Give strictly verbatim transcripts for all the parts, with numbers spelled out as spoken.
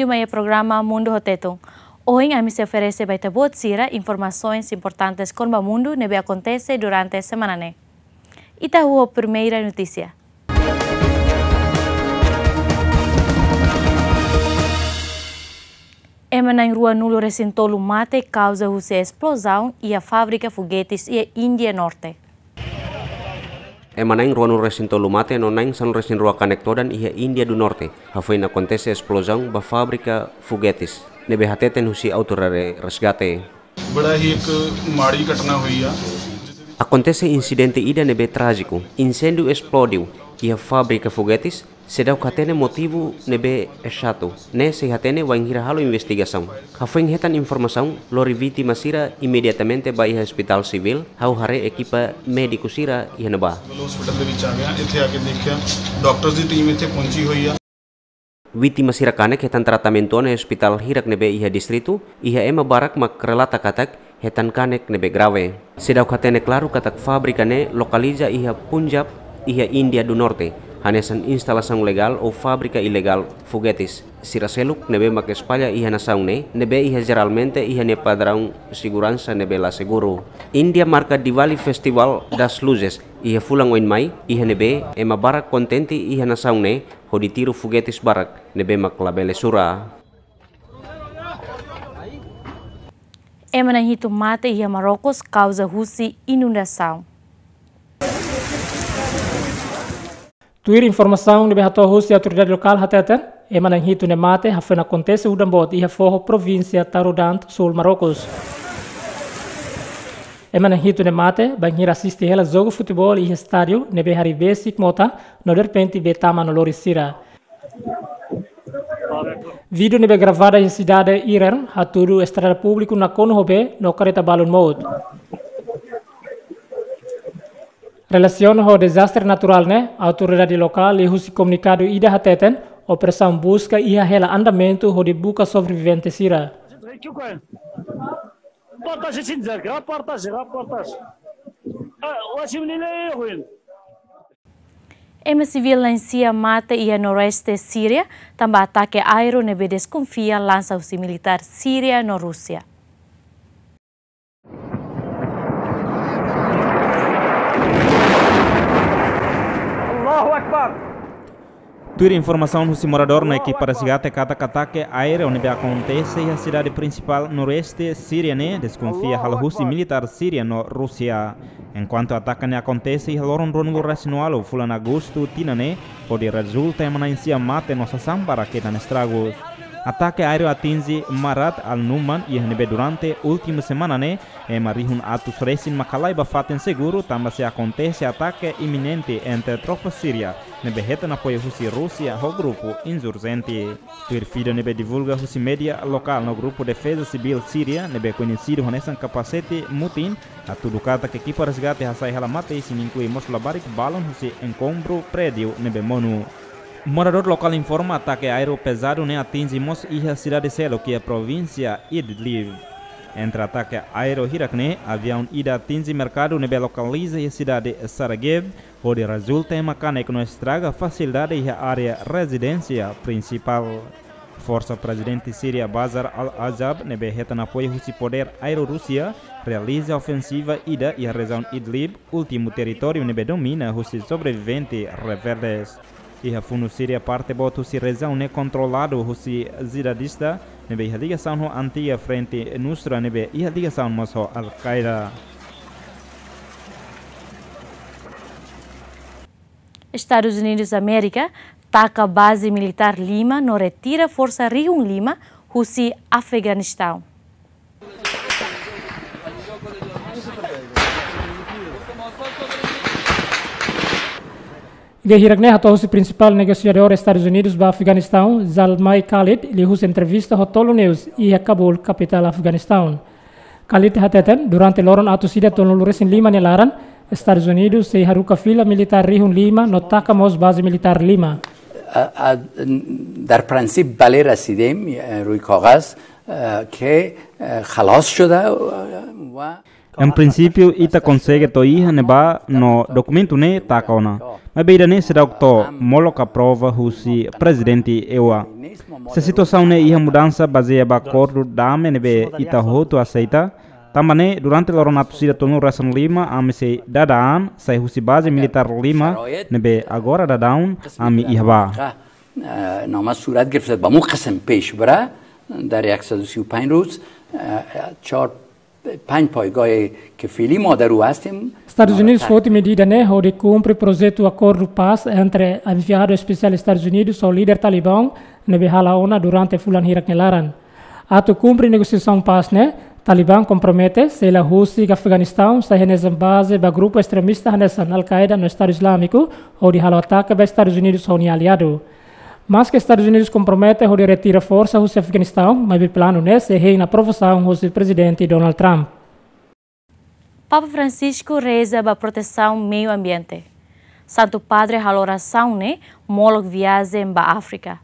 Mai programa Mundu ho Tetun. Ohin ami sei oferese ba ita-boot sira informasoens importantes kona-ba mundu ne'ebé akontese durante semana ne'e. Ita ho primeira notísia. Ema na'in ruanulu-resin-tolu mate kauza husi esplozaun iha fábrika fogetes iha Índia Norte. Ema na'in ruanulu-resin-tolu mate no na'in sanulu-resin-rua kanek todan iha Índia do Norte, hafoin akontese esplozaun ba fábrika fogetes, ne'ebé hateten husi autoridade resgate. बड़ा ही एक माड़ी घटना हुई है। Akontese insidente ida ne'ebé trájiku. Inséndiu esplodiu iha fábrika fogetes, seidauk hatene motivu ne'ebé ezatu. Ne'e sei hatene wainhira halo investigasaun. Hafoin hetan informasaun, lori vítima sira imediatamente ba iha ospitál sivíl, hau haree ekipa médiku sira iha ne'ebá. Civil hospital ਦੇ ਵਿੱਚ ਆ ਗਿਆ। ਇੱਥੇ ਆ ਕੇ ਦੇਖਿਆ, ਡਾਕਟਰਸ ਦੀ ਟੀਮ ਇੱਥੇ ਪਹੁੰਚੀ ਹੋਈ ਆ। Vítima sira kanek hetan tratamentu ona iha ospitál hirak ne'ebé iha distritu, iha ema barak mak relata katak hetan kanek ne'ebé grave. Seidauk hatene klaru katak fábrika ne'e lokaliza iha Punjab, iha Índia do Norte, hanesan instalasaun legál ou fábrika ilegál fogetes sira seluk ne'ebé mak espalla iha nasaun ne'e, ne'ebé iha jeralmente iha nia padraun seguransa ne'ebé la seguru. Índia marka Diwali Festival das Luzes iha fulan oin mai, iha ne'ebé ema barak kontente iha nasaun ne'e hodi tiru fogetes barak ne'ebé mak labele sura. Ema na'in hitu mate iha Marrokos kauza husi inundasaun. Tuir informasaun ne'ebé hato'o husi autoridade lokál hateten, ema na'in hitu ne'e mate hafoin akontese udan boot iha foho provínsia Taroudant, súl Marrokos. Ema na'in hitu ne'e mate bainhira asiste hela jogu futeból iha estádiu ne'ebé harii besik mota no derrepente bee tama no lori sira. Vídeo ne'ebé gravada iha sidade Irern hatudu estrada públiku nakonu ho bee no karreta balun mout. Relasiona ho dezastre naturál ne'e, autoridade lokál liuhusi komunikadu ida hateten, operasaun buska iha hela andamentu hodi buka sobrevivente sira. Ema sivíl na'in sia mate iha noroeste Síria, tanba atake aéreu ne'ebé deskonfia lansa husi militár Síria no Rúsia. Allahu Akbar. Tuir informasaun husi moradór no ekipa resgate katak atake aéreu ne'ebé akontese iha sidade prinsipál noroeste Síria ne'e deskonfia halo husi militár Síria no Rúsia. Enkuantu atake ne'e akontese iha loron ruanulu-resin-ualu fulan Agostu tinan ne'e, hodi rezulta ema na'in sia mate no sasán barak hetan estragus. Atake aéreu atinje Marat al-Numan iha ne'ebé durante últimu semana ne'e, ema rihun atus resin mak halai ba fatin seguru tanba sei akontese atake iminente entre tropa Síria ne'ebé hetan apoiu husi Rúsia ho grupu insurjente. Tuir vídeo ne'ebé divulga husi média lokál no grupu defeza sivíl Síria ne'ebé koñesidu hanesan Kapasete Mutin, hatudu katak ekipa resgate hasai hela mate-isin, inklui mós labarik balun husi enkontru prédiu ne'ebé monu. Moradór lokál informa atake aéreu pezadu ne'e atinje mós iha sidade seluk iha provínsia Idlib. Entre atake aéreu hirak ne'e, aviaun ida atinje merkadu ne'ebé lokaliza iha sidade Sarajevo, hodi rezulta ema kanek no estraga fasilidade iha área rezidénsia prinsipál. Forsa Prezidente Síria Bashar al-Assad ne'ebé hetan apoiu husi podér aéreu Rúsia realiza ofensiva ida iha rejiaun Idlib, últimu territóriu ne'ebé domina husi sobrevivente rebeldes. Iha fundu Síria, parte boot husi rejiaun ne'e kontroladu husi jihadista ne'ebé iha ligasaun ho antiga Frente Nusra ne'ebé iha ligasaun mós ho Al-Qaeda. Estadus Unidus Amérika taka baze militár lima no retira forsa rihun lima husi Afeganistaun. Ida hirak ne'e hato'o husi prinsipál negosiadór Estadus Unidus ba Afeganistaun, Zalmay Khalid, liuhusi entrevista ho Tolu News iha Kabul, kapitál Afeganistaun. Khalid hateten, durante loron atus ida tolunulu-resin-lima nia laran, Estadus Unidus sei haruka fila militár rihun lima no taka mós baze militár lima. در پرانسیب بله رسیدیم، روی کاغذ، که خلاص شده و... Em prinsípiu, ita konsege to'o iha ne'ebá no dokumentu ne'e taka ona. Maibé ida-ne'e seidauk to'o, molok aprova husi prezidente E U A. Se situasaun ne'e iha mudansa bazeia ba akordu dame ne'ebé ita hotu aseita, tanba ne'e durante loron atus ida tolunulu resin lima, ami sei dada an, sai husi baze militár lima, ne'ebé agora daudaun ami iha ba. نامه صورت گرفته، با مو قسم پیش بره. در یک سد و سی و پنج روز چهار پنج پایگاه که فعلی ما در او هستیم. Estadus Unidus foti medida ne'e hodi kumpre projetu akordu pás entre enviadu espesiál Estadus Unidus ho líder Talibán ne'ebé hala'o ona durante fulan hirak nia laran. Atu kumpre negosiasaun pás ne'e, Talibán kompromete sei la husik Afeganistaun sai hanesan baze ba grupu estremista hanesan Al-Qaeda no Estadu Izlámiku hodi halo atake ba Estadus Unidus ho nia aliadu. Maske Estadus Unidus kompromete hodi retira forsa husi Afeganistaun, maibé planu ne'e sei hein aprovasaun husi Prezidente Donald Trump. Papa Francisco reza ba protesaun meiu ambiente. Santu Padre halo orasaun ne'e molok viajen ba Áfrika.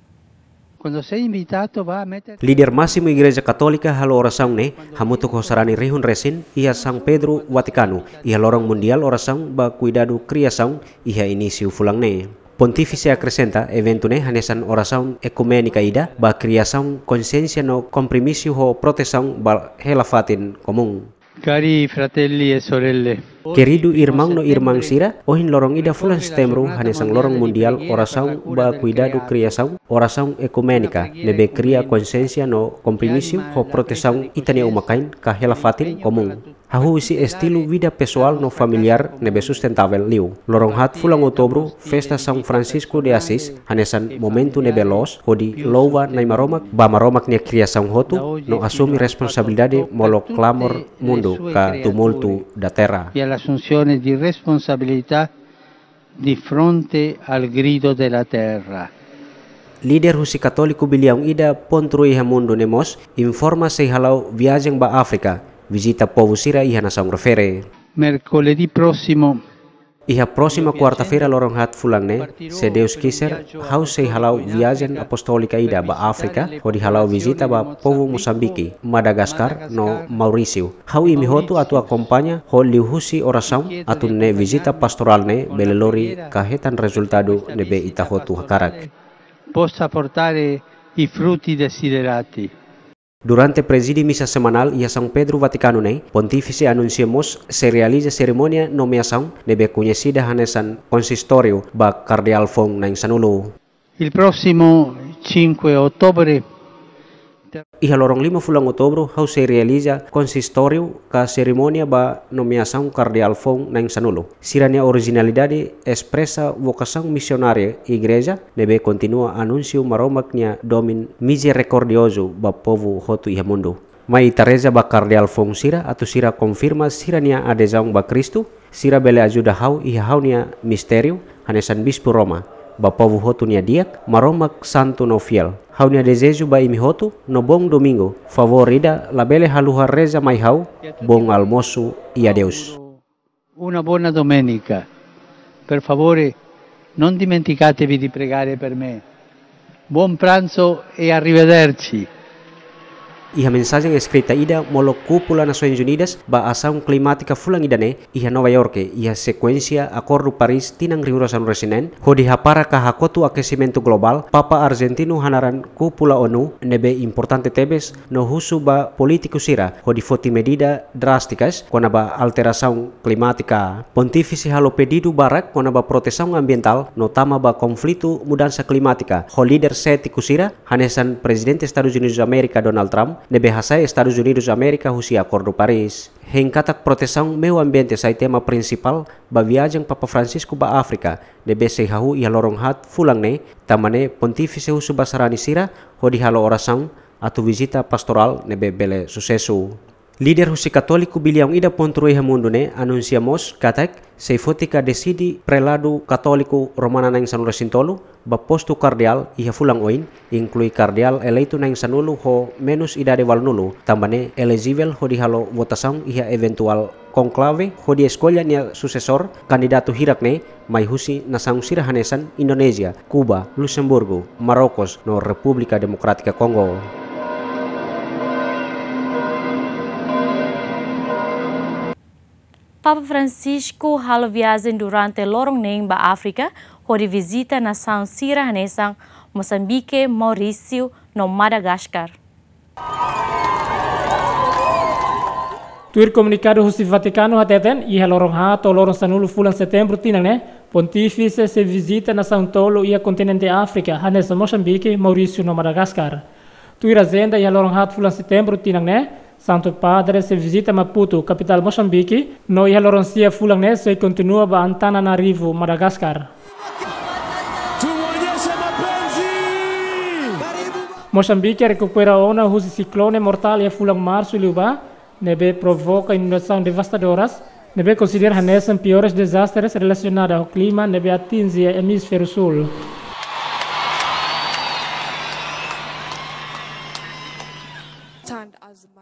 Líder másimu Igreja Katólika halo orasaun ne'e hamutuk ho sarani rihun resin iha São Pedro, Vatikanu, iha loron mundiál orasaun ba kuidadu kriasaun iha inísiu fulan ne'e. Pontífise akresenta eventu ne'e hanesan orasaun ekuménika ida ba kriasaun konsiénsia no kompromisu ho protesaun ba hela-fatin komún. Cari fratelli e sorelle. Keridu irmaun no irmán sira, ohin loron ida fulan Setembru hanesan loron mundiál orasaun ba kuidadu kriasaun, orasaun ekuménika ne'ebé kria konsiénsia no kompromisu ho protesaun ita-nia uma-kain ka hela-fatin komún. Hahú husi estilu vida pesoál no familiár ne'ebé sustentável liu. Loron haat fulan Outubru, festa São Francisco de Assis, hanesan momentu ne'ebé loos hodi louva Nai Maromak, ba Maromak nia kriasaun hotu, no asume responsabilidade molok klamor mundu ka tumultu da terra. E all'assunzione di responsabilità di fronte al grido della terra. Líder husi Katóliku biliaun ida pontru iha mundu ne'e mós informa sei hala'o viajen ba Áfrika, vizita povu sira iha nasaun refere. Mercoledì prossimo Iha prósima kuarta-feira loron haat fulan ne'e, se Deus quiser, ha'u sei hala'o viajen apostólika ida ba Áfrika, hodi hala'o vizita ba povu Mosambike, Madagaskar, no Maurísiu. Ha'u imi hotu atu akompaña ho liuhusi orasaun atu nune'e vizita pastorál ne'e bele lori ka hetan rezultadu ne'ebé ita hotu hakarak. Possa portare i frutti desiderati. Durante prezide misa semanál iha São Pedro, Vatikanu ne'e, Pontífise anunsia mós sei realiza serimónia nomeasaun ne'ebé koñesida hanesan konsistóriu ba Kardeál foun na'in sanulu. Il prossimo cinque ottobre Iha loron lima fulan Outubru, ha'u sei realiza konsistóriu ka serimónia ba nomeasaun Kardeál foun na'in sanulu. Sira-nia orijinalidade espresa vokasaun misionária Igreja ne'ebé kontinua anunsiu Maromak nia domin mizerikordiozu ba povu hotu iha mundu. Mai ita reza ba Kardeál foun sira atu sira konfirma sira-nia adezaun ba Kristu, sira bele ajuda ha'u iha ha'u-nia mistériu, hanesan Bispu Roma, ba povu hotu nia di'ak, Maromak santu no fiél. Ha'u-nia dezeju ba imi hotu, no bom domingu, favór ida labele haluha reza mai ha'u, bom almoço e adeus. Una buona domenica. Per favore, non dimenticatevi di pregare per me. Buon pranzo e arrivederci. Iha mensajen eskrita ida molok Kúpula Nasoins Unidas ba asaun klimátika fulan ida-ne'e iha Nova Iorke, iha sekuénsia Akordu Paris tinan rihun rua sanulu resin neen, hodi hapara ka hakotu akesimentu globál, Papa arjentinu hanaran Kúpula ONU ne'ebé importante tebes no husu ba polítiku sira hodi foti medida drástikas kona-ba alterasaun klimátika. Pontífise halo pedidu barak kona-ba protesaun ambientál no tama ba konflitu mudansa klimátika ho líder sétiku sira, hanesan Prezidente Estadus Unidus Amérika Donald Trump ne'ebé hasai Estadus Unidus Amérika husi Akordu Paris. Hein katak protesaun meiu ambiente sai tema prinsipál ba viajen Papa Francisco ba Áfrika, ne'ebé sei hahú iha loron haat fulan ne'e, tanba ne'e Pontífise husu ba sarani sira hodi halo orasaun atu vizita pastorál ne'ebé bele susesu. Líder husi Katóliku biliaun ida pontru iha mundu ne'e anunsia mós katak sei foti ka deside Preladu Katóliku Romana na'in sanulu resin tolu ba postu kardeál iha fulan oin, inklui kardeál eleitu na'in sanulu ho menus idade ualunulu, tanba ne'e elejivel hodi halo votasaun iha eventuál konklave hodi eskolla nia susesór, kandidatu hirak ne'e mai husi nasaun sira hanesan Indonézia, Kuba, Luxemburgu, Marrokos no Repúblika Demokrátika Kongo. Papa Francisco halo viajen durante loron neen ba Áfrika, hodi vizita nasaun sira hanesan Mosambike, Maurísiu, no Madagaskar. Tuir komunikadu husi Vatikanu hateten, iha loron haat to'o loron sanulu fulan Setembru tinan ne'e, Pontífise sei vizita nasaun tolu iha kontinente Áfrika, hanesan Mosambike, Maurísiu no Madagaskar. Tuir ajenda, iha loron haat fulan Setembru tinan ne'e, Santu Padre sei vizita Maputo, kapitál Mosambike, no iha loron sia fulan ne'e sei kontinua ba Antananarivo, Madagaskar. Mosambike rekupera ona husi siklone mortál iha fulan Marsu liubá, ne'ebé provoka inundasaun devastadoras, ne'ebé konsidera hanesan piores dezastres relasionadu ho klima ne'ebé atinje Emisfériu Súl.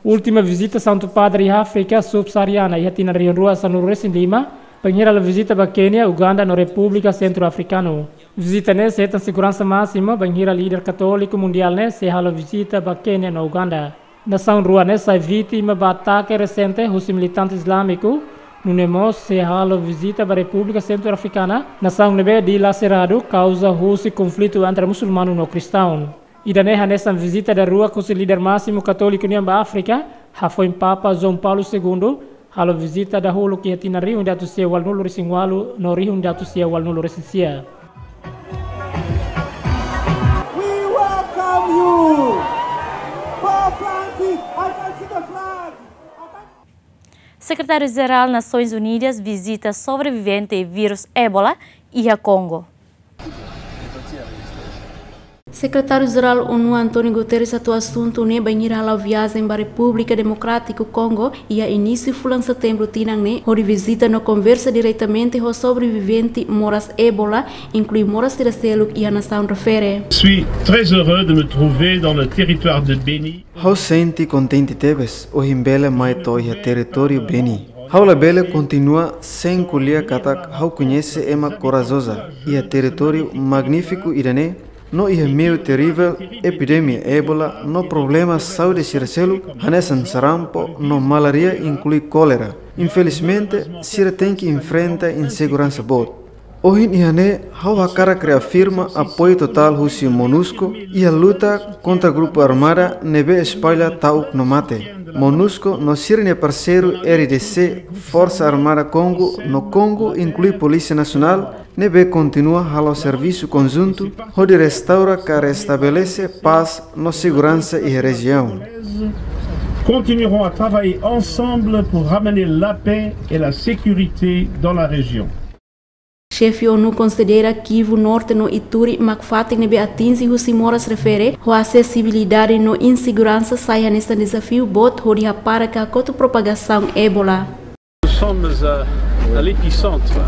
Última vizita Santu Padre iha Áfrika Subsaariana iha tinan rihun rua sanulu resin lima, bainhira halo vizita ba Kénia, Uganda no Repúblika Sentru Afrikanu. Vizita ne'e sei hetan seguransa másimu, bainhira líder katóliku mundiál ne'e sei halo vizita ba Kénia no Uganda. Nasaun rua ne'e sai vítima ba atake resente husi militante islámiku, nune'e mós sei halo vizita ba Repúblika Sentru Afrikana, nasaun ne'ebé dilaseradu kauza husi konflitu entre musulmanu no kristaun. Ida-ne'e hanesan vizita daruak husi líder másimu katóliku nian ba Áfrika, hafoin Papa João Paulo Segundo halo vizita dahuluk iha tinan rihun ida atus sia ualunulu resin ualu no rihun ida atus sia ualunulu resin sia. We welcome you, Pope Francis. I can see the flag. Sekretáriu-Jerál Nasoins Unidas vizita sobrevivente vírus Ébola iha Kongo. Sekretáriu-Jerál ONU António Guterres hato'o asuntu ne'e bainhira hala'o viajen ba Repúblika Demokrátiku Kongo iha inísiu fulan Setembru tinan ne'e, hodi vizita no konversa diretamente ho sobrevivente moras Ébola, inklui moras sira seluk iha nasaun refere. Je suis très heureux de me trouver dans le territoire de Beni. Ha'u sente kontente tebes ohin bele mai to'o iha territóriu Beni. Ha'u labele kontinua sein ko'alia katak ha'u koñese ema korajoza iha territóriu magnífiku ida-ne'e, no iha meiu terivel epidemia Ébola no problema saúde sira seluk, hanesan sarampu no malária, inklui kólera. Infelizmente, sira tenke enfrenta inseguransa boot. Ohin iha ne'e, ha'u hakarak reafirma apoiu totál husi MONUSCO iha luta kontra grupu armada ne'ebé espalla ta'uk no mate. MONUSCO no sira-nia parseiru R D C, Forsa Armada Kongo no Kongo, inklui Polísia Nasionál, ne'ebé kontinua halo servisu konjuntu hodi restaura ka restabelese pás no seguransa iha rejiaun. Continueront à travailler ensemble pour ramener la paix et la sécurité dans la région. Xefe ONU konsidera Kivu Norte no Ituri mak fatin ne'ebé atinje husi moras refere, ho asesibilidade no inseguransa sai hanesan dezafiu boot hodi hapara ka hakotu propagasaun Ébola. Nous sommes à, à l'épicentre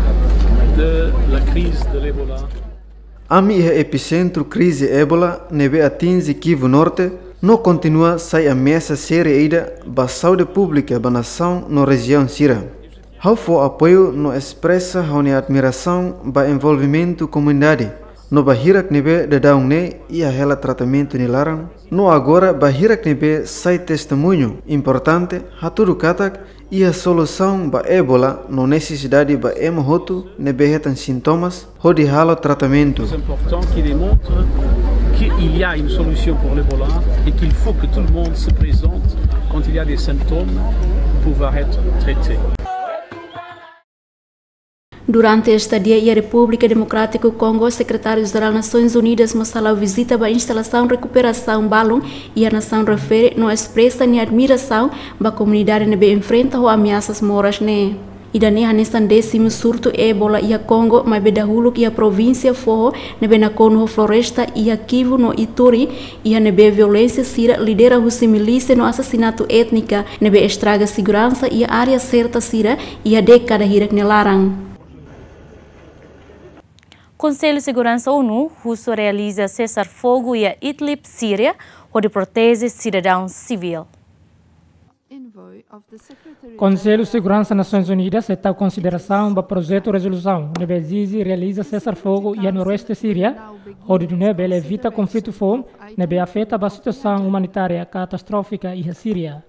de la crise de l'Ebola. Ami iha episentru krize Ébola ne'ebé atinje Kivu Norte, no kontinua sai ameasa sériu ida ba saúde públika ba nasaun no rejiaun sira. Ha'u fó apoiu no espresa ha'u-nia admirasaun ba envolvimentu komunidade, no ba hirak ne'ebé daudaun ne'e iha hela tratamentu nia laran, no agora ba hirak ne'ebé sai testemuñu importante, hatudu katak iha solusaun ba Ébola no nesesidade ba ema hotu ne'ebé hetan sintomas hodi halo tratamentu. C'est important qui démontre qu'il y a une solution pour l'Ebola et qu'il faut que tout le monde se présente quand il y a des symptômes pour pouvoir être traité. Durante estadia iha Repúblika Demokrátiku Kongo, Sekretáriu-Jerál Nasoins Unidas mós hala'o vizita ba instalasaun rekuperasaun balun iha nasaun refere no espresa nia admirasaun ba komunidade ne'ebé enfrenta ho ameasas moras ne'e. Ida-ne'e hanesan désimu surtu Ébola iha Kongo, maibé dahuluk iha provínsia foho ne'ebé nakonu ho floresta iha Kivu no Ituri, iha ne'ebé violénsia sira lidera husi milísia no asasinatu étnika ne'ebé estraga seguransa iha área serta sira iha dékada hirak nia laran. Konsellu Seguransa ONU husu realiza sesar fogu iha Idlib, Síria, hodi proteje sidadaun sivíl. Konsellu Seguransa Nasoins Unidas sei tau konsiderasaun ba projetu rezolusaun ne'ebé ezije realiza sesar fogu iha noroeste Síria, hodi nune'e bele evita konflitu foun ne'ebé afeta ba situasaun umanitária katastrófika iha Síria.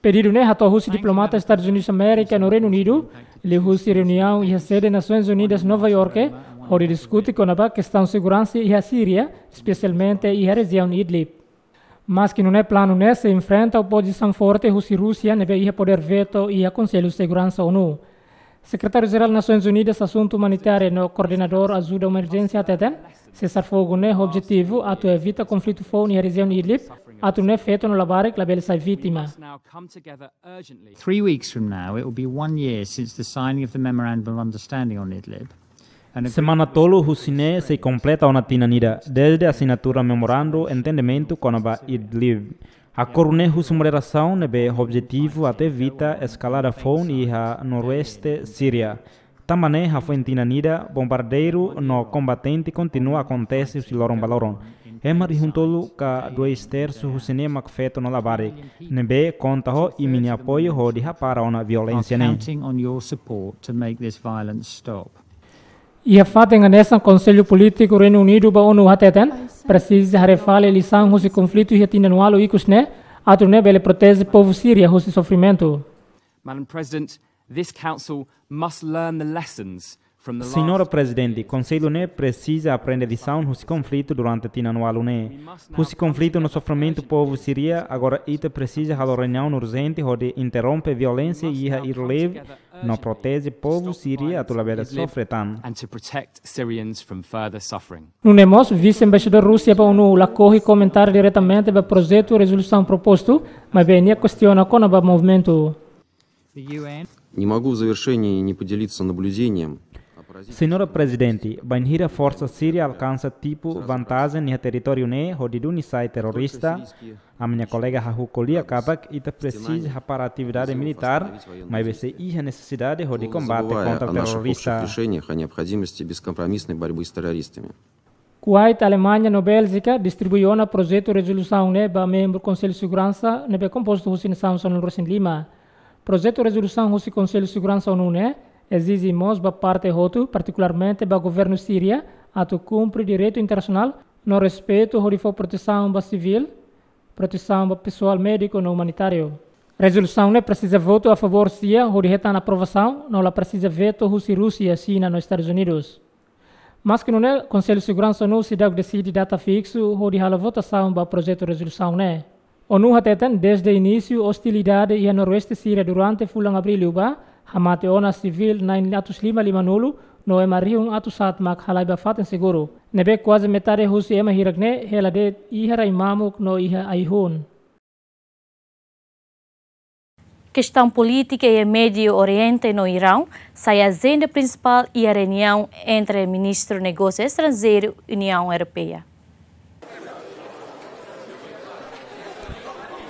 Pedidu ne'e hato'o husi diplomata Estadus Unidus Amérika no Reinu Unidu, liuhusi reuniaun iha sede Nasoins Unidas Nova Iorke, hodi diskute kona-ba kestaun seguransa iha Síria, espesialmente iha rejiaun Idlib. Maski nune'e planu ne'e sei enfrenta opozisaun forte husi Rúsia ne'ebé iha podér veto iha Konsellu Seguransa ONU. Sekretáriu Jerál Nasoins Unidas Asuntu Umanitáriu no Koordenadór Ajuda Emerjénsia hateten, sesar fogu ne'e objetivu atu evita konflitu foun iha rejiaun Idlib, atu nune'e feto no labarik labele sai vítima. Three weeks from now, it will be one year since the signing of the Memorandum of Understanding on Idlib. Semana tolu husi ne'e sei kompleta ona tinan ida dezde asinatura memorandu entendimentu kona-ba Idlib. Akordu ne'e husu moderasaun ne'ebé objetivu atu evita eskalada foun iha noroeste Síria. Tanba ne'e hafoin tinan ida, bombardeiru no kombatente kontinua akontese husi loron ba loron. Ema rihun tolu ka dois tersu husi ne'e mak feto no labarik, ne'ebé konta ho imi-nia apoiu hodi hapara ona violénsia ne'e. Counting on your support to make this violence stop. Iha fatin hanesan, Konsellu Polítiku Reinu Unidu ba ONU hateten, presiza haree fali lisaun husi konflitu iha tinan ualu ikus ne'e, atu nune'e bele proteje povu Síria husi sofrimentu. Madam President, this Council must learn the lessons from the Señora last Presidente, Konsellu ne'e presiza aprende lisaun husi konflitu durante tinan ualu ne'e. Husi konflitu no sofrimentu povu Síria, agora ita presiza halo reuniaun urjente hodi interrompe violénsia iha Idlib no proteje povu Síria atu labele sofre tan. And to protect Syrians from further suffering. Nune'e mós, Vise-Embaixadór Rúsia ba ONU lakohi komentáriu diretamente ba projetu rezolusaun propostu, maibé nia kestiona kona-ba movimentu. Не могу в завершении не поделиться наблюдением. Señora Presidente, bainhira forsa Síria alkansa tipu vantajen iha territóriu ne'e hodi duni sai terrorista, ami-nia kolega hahú ko'alia katak ita presiza hapara atividade militár, maibé sei iha nesesidade hodi kombate kontra terrorista. Решениях о необходимости бескомпромиссной борьбы с террористами. Kuwait, Alemanha no Béljika distribui ona projetu rezolusaun ne'e ba membru Konsellu Seguransa ne'ebé kompostu husi nasaun sanulu-resin-lima. Projetu rezolusaun husi Konsellu Seguransa ONU ne'e ezije mós ba parte hotu, partikularmente ba governu Síria, atu kumpre direitu internasionál no respeitu hodi fó protesaun ba sivíl, protesaun ba pesoál médiku no umanitáriu. Rezolusaun ne'e presiza votu a favór sia hodi hetan aprovasaun, no la presiza veto husi Rúsia, Xina no Estadus Unidus. Maski nune'e, Konsellu Seguransa ONU seidauk deside data fiksu hodi halo votasaun ba projetu rezolusaun ne'e. ONU hateten dezde inísiu ostilidade iha noroeste Síria durante fulan Abríl liubá, hamate ona sivíl na'in atus lima-lima-nulu, no ema rihun atus haat mak halai ba fatin seguru. Ne'ebé kuaze metade husi ema hirak ne'e hela de'it iha rai mamuk no iha ai-hun. Kestaun polítika iha Médiu Oriente no Iraun sai ajenda prinsipál iha reuniaun entre Ministru Negósiu Estranjeiru Uniaun Europeia.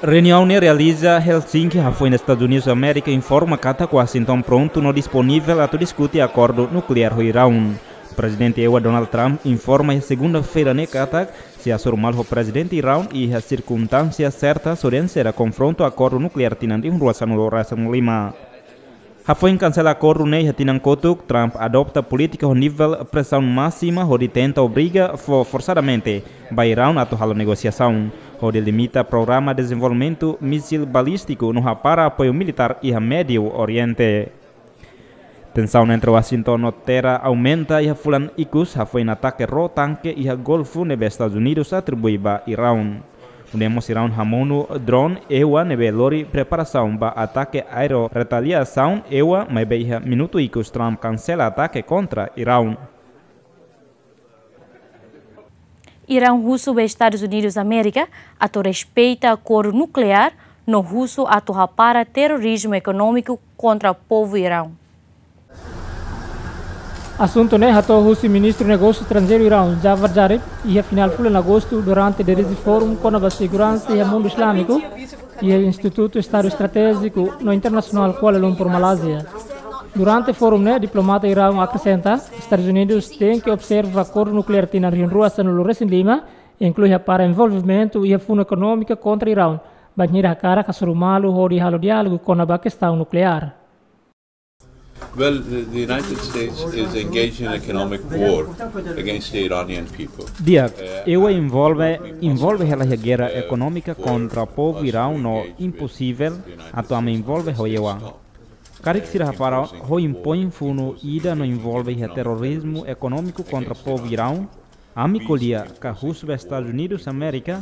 Reuniaun ne'e realiza Helsinki, hafoin Estadus Unidus Amérika informa katak Washington prontu no disponivel atu diskute akordu nukleár ho Iraun. Prezidente ewa Donald Trump informa iha segunda-feira ne'e katak sei hasoru malu ho prezidente Iraun iha sirkunstánsia serta, só dehan sei la konfronta akordu nukleár tinan rihun rua sanulu-resin-lima. Hafoin kansela akordu ne'e iha tinan kotuk, Trump adota polítika ho nivel presaun másima hodi tenta obriga fó forsadamente ba Iraun atu halo negosiasaun hodi limita programa dezenvolvimentu mísil balístiku no hapara apoiu militár iha Médiu Oriente. Tensaun entre Washington no Teerán aumenta iha fulan ikus, hafoin atake ró tanke iha Golfu ne'ebé Estadus Unidus atribui ba Iraun. Nune'e mós Iraun hamonu drone ewa ne'ebé lori preparasaun ba atake aéreu retaliasaun ewa, maibé iha minutu ikus Trump kansela atake kontra Iraun. Iraun husu ba Estadus Unidus Amérika atu respeita akordu nukleár no husu atu hapara terrorizmu ekonómiku kontra povu Iraun. Asuntu ne'e hato'o husi Ministru Negósiu Estranjeiru Iraun, Javad Zarif, iha finál fulan Agostu durante dirije fórum kona-ba seguransa iha mundu islamiku iha Institutu Estadu Estratéjiku no Internasionál, Kuala Lumpur, Malázia. Durante fórum ne'e, diplomata Iraun akresenta, Estadus Unidus tenke observa akordu nukleár tinan rihun rua sanulu-resin-lima, inklui hapara envolvimentu iha funu ekonómika kontra Iraun, bainhira hakarak hasoru malu hodi halo diálogu kona-ba kestaun nukleár. Well, the, the United States is engaged in economic war against the Iranian people. Di'ak, E U envolve, envolve hela iha guerra ekonómika kontra povu Iraun no imposivel atu ami envolve ho E U. Karik sira hapara ho impoin funu ida no envolve iha terrorizmu ekonómiku kontra povu Iraun, ami ko'alia ka husu ba Estadus Unidus Amérika,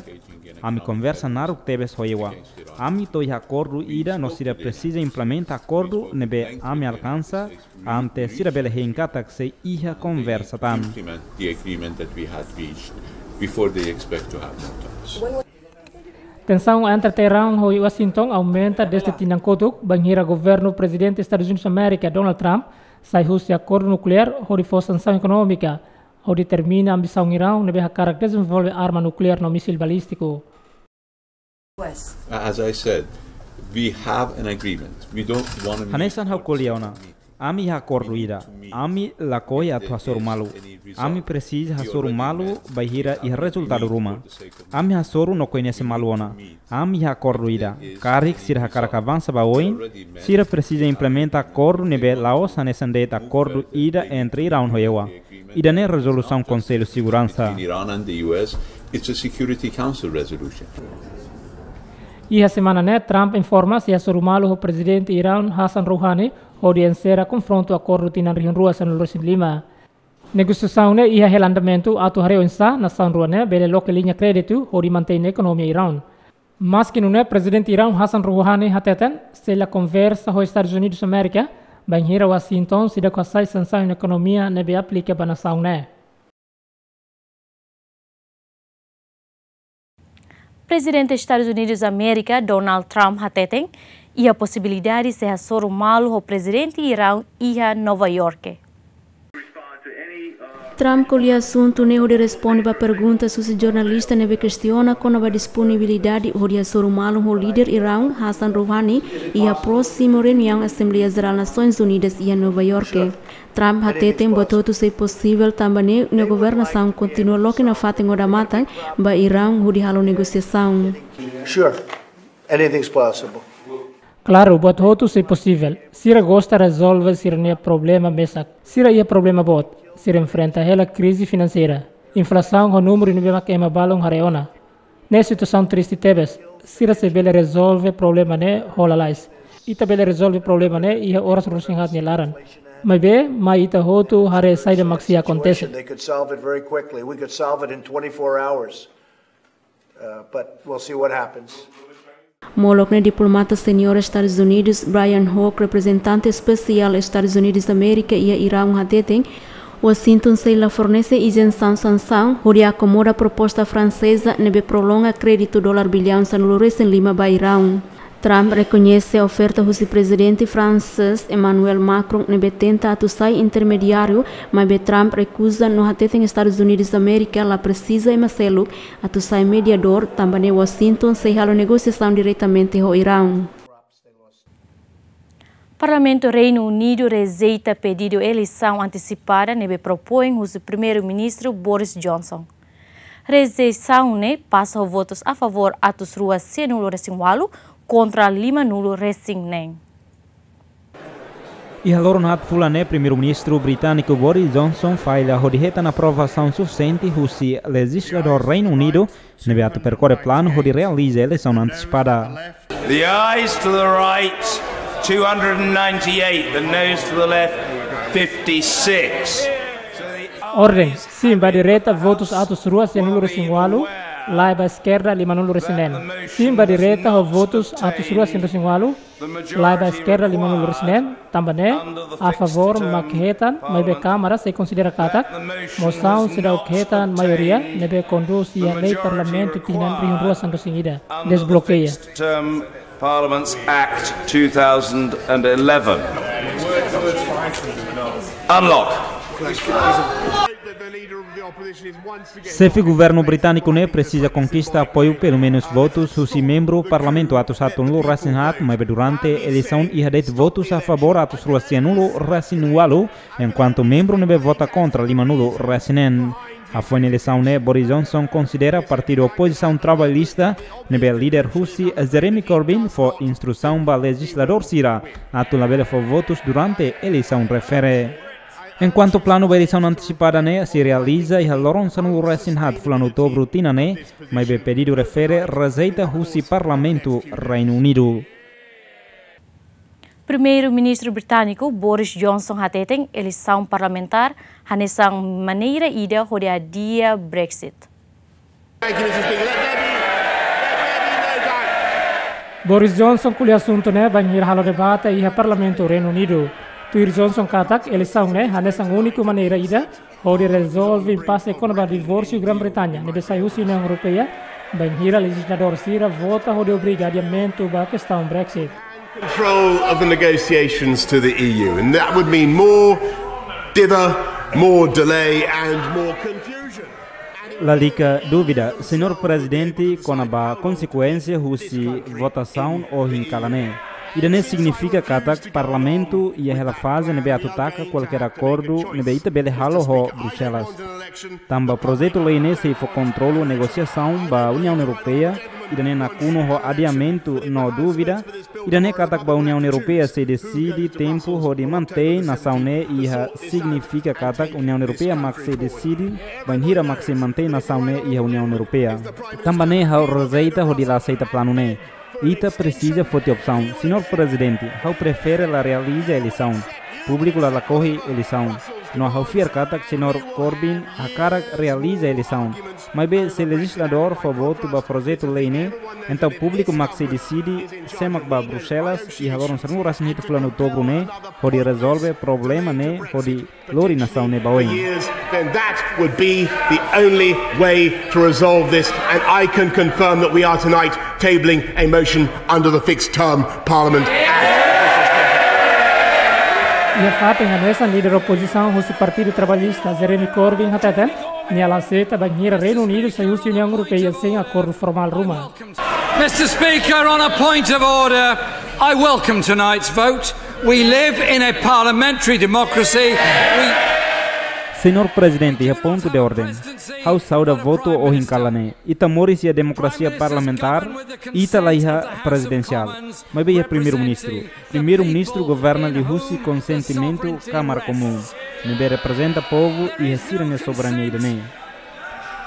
ami konversa naruk tebes ho E U. Ami to'o iha akordu ida no sira presiza implementa akordu ne'ebé ami alkansa, ante sira bele hein katak sei iha konversa tan. Implement the agreement that we had reached before they expect to have more talks. Tensaun entre Iraun ho Washington aumenta dezde tinan kotuk, bainhira governu Prezidente Estadus Unidus Amérika, Donald Trump, sai husi akordu nukleár hodi fó sansaun ekonómika, hodi termina ambisaun Iraun ne'ebé hakarak dezenvolve arma nukleár no mísil balístiku. As I said, we have an agreement. We don't want to meet Hanesan ha'u ko'alia ona, ami iha akordu ida. Ami lakohi atu hasoru malu. Ami presiza hasoru malu bainhira iha rezultadu ruma. Ami hasoru no koñese malu ona. Ami iha akordu ida. Karik sira hakarak avansa ba oin, sira presiza implementa akordu ne'ebé la'ós hanesan de'it akordu ida entre Iraun ho E U. Ida-ne'e rezolusaun Konsellu Seguransa. Between Iran and the U S, it's a Security Council resolution. Iha semana ne'e, Trump informa sei hasoru malu ho Prezidente Iraun Hassan Rouhani hodi ensera konfrontu akordu tinan rihun rua sanulu-resin-lima. Negosiasaun ne'e iha hela andamentu atu haree oinsá nasaun rua ne'e bele loke liña kréditu hodi mantein ekonomia Iraun. Maski nune'e, Prezidente Iraun Hassan Rouhani hateten sei la konversa ho Estadus Unidus Amérika bainhira Washington seidauk hasai sansaun ekonomia ne'ebé aplika ba nasaun ne'e. Prezidente Estadus Unidus Amérika, Donald Trump, hateten iha posibilidade sei hasoru malu ho Prezidente Iraun iha Nova Iorke. Trump ko'alia asuntu ne'e hodi responde ba pergunta husi jornalista ne'ebé kestiona kona-ba disponibilidade hodi hasoru malu ho líder Iraun, Hassan Rouhani, iha prósimu reuniaun Asembleia Jerál Nasoins Unidas iha Nova Iorke. Trump hateten buat hotu sei posivel tanba ne'e nia governasaun kontinua loke nafatin odamatan ba Iraun hodi halo negosiasaun. Sure, anything's possible. Klaru, buat hotu sei posivel. Sira gosta rezolve sira-nia problema mesak. Sira iha problema boot. Sira enfrenta hela krize finanseira. Inflasaun ho númeru ne'ebé mak ema balun haree ona. Ne'e situasaun triste tebes. Sira sei bele rezolve problema ne'e ho lalais. Ita bele rezolve problema ne'e iha oras ruanulu-resin-haat nia laran. Maibé, mai ita hotu haree saida mak sei akontese. They could solve it very quickly. We could solve it in twenty-four hours. Uh, but we'll see what happens. Molok ne'e diplomata seniór Estadus Unidus, Brian Hook, reprezentante espesiál Estadus Unidus Amérika iha Iraun hateten, Washington sei la fornese izensaun sansaun hodi akomoda proposta franseza ne'ebé prolonga kréditu dolar billaun sanulu-resin-lima ba Iraun. Trump rekoñese oferta husi Prezidente fransés Emmanuel Macron ne'ebé tenta atu sai intermediáriu, maibé Trump rekuza no hateten Estadus Unidus Amérika la presiza ema seluk atu sai mediadór, tanba ne'e Washington sei halo negosiasaun diretamente ho Iraun. Parlamentu Reinu Unidu rejeita pedidu eleisaun antesipada ne'ebé propoin husi Primeiru-Ministru Boris Johnson. Rejeisaun ne'e pasa ho votus a favór atus rua sianulu-resin-ualu kontra limanulu-resin-neen. Iha loron haat fulan ne'e, Primeiru-Ministru britániku Boris Johnson falla hodi hetan aprovasaun sufisiente husi lejizladór Reinu Unidu ne'ebé atu perkorre planu hodi realiza eleisaun antesipada. The ayes to the right, two hundred and ninety-eight, the noes to the left, fifty-six. Orden, sin ba direta, votus atus rua sianulu-resin-ualu, la'e ba eskerda, limanulu-resin-neen. Sin ba direta ho votus atus rua sianulu-resin-ualu, la'e ba eskerda, limanulu-resin-neen, tanba ne'e, a favór mak hetan, maibé Kámara sei konsidera katak mosaun seidauk hetan maioria ne'ebé kondús iha lei Parlamentu tinan rihun rua sanulu-resin-ida. Desblokeia. Term Parliaments Act two thousand and eleven. Unlock. Xefe governu britániku ne'e presiza konkista apoiu pelumenus votus husi membru Parlamentu atus haatnulu-resin-haat, maibé durante eleisaun iha de'it votus a favór atus rua sianulu-resin-ualu, enkuantu membru ne'ebé vota kontra limanulu-resin-neen. Hafoin eleisaun ne'e, Boris Johnson konsidera partidu opozisaun Trabalhista ne'ebé lidera husi Jeremy Corbyn fó instrusaun ba lejizladór sira atu labele fó votus durante eleisaun refere. Enkuantu planu ba eleisaun antesipada ne'e sei realiza iha loron sanulu-resin-haat fulan Outubru tinan ne'e, maibé pedidu refere rejeita husi Parlamentu Reinu Unidu. Primeiru-Ministru britániku Boris Johnson hateten eleisaun parlamentár hanesan maneira ida hodi adia Brexit. Boris Johnson ko'alia asuntu ne'e bainhira halo debate iha Parlamentu Reinu Unidu. Tuir Johnson katak eleisaun ne'e hanesan úniku maneira ida hodi rezolve impase kona-ba divórsiu Grã-Bretanya ne'ebé sai husi Uniaun Europeia, bainhira lejizladór sira vota hodi obriga adiamentu ba kestaun Brexit. Control of the negotiations to the E U, and that would mean more dither, more delay and more confusion. Lalika dúvida, Señór Prezidente, kona-ba konsekuénsia husi votasaun ohin kalan ne'e. Ida-ne'e signifika katak Parlamentu iha hela faze ne'ebé atu taka kualkér akordu ne'ebé ita bele halo ho Bruxelas. Tanba projetu lei ne'e sei fó kontrolu negosiasaun ba Uniaun Europeia, ida-ne'e nakonu ho adiamentu no dúvida, ida-ne'e katak ba Uniaun Europeia sei deside tempu hodi mantein nasaun ne'e iha, signifika katak Uniaun Europeia mak sei deside bainhira mak sei mantein nasaun ne'e iha Uniaun Europeia. Tanba ne'e ha'u rejeita hodi la aseita planu ne'e. Ita presiza foti opsaun. Señór Prezidente, ha'u prefere la realiza eleisaun. Públiku la lakohi eleisaun. No ha'u fiar katak Señór Corbyn hakarak realiza eleisaun. Maibé se lejizladór fó votu ba projetu lei ne'e, entaun públiku mak sei deside sé mak bá Bruxelas iha loron sanulu-resin-hitu fulan Outubru ne'e hodi rezolve problema ne'e hodi lori nasaun ne'e ba oin. Years, then that would be the only way to resolve this, and I can confirm that we are tonight tabling a motion under the Fixed Term Parliament Act. Iha fatin hanesan, líder opozisaun husi Partidu Trabalhista, Jeremy Corbyn, hateten nia la aseita bainhira Reinu Unidu sai husi Uniaun Europeia sein akordu formál ruma. Mister Speaker, on a point of order, I welcome tonight's vote. We live in a parliamentary democracy. We... Señór Prezidente, iha pontu de orden. Ha'u sauda votu ohin kalan ne'e. Ita moris iha demokrasia parlamentár, ita la iha prezidensiál, maibé iha Primeiru-Ministru. Primeiru-Ministru governa liuhusi konsentimentu Kámara Komún, ne'ebé reprezenta povu iha sira-nia soberania ida-ne'e.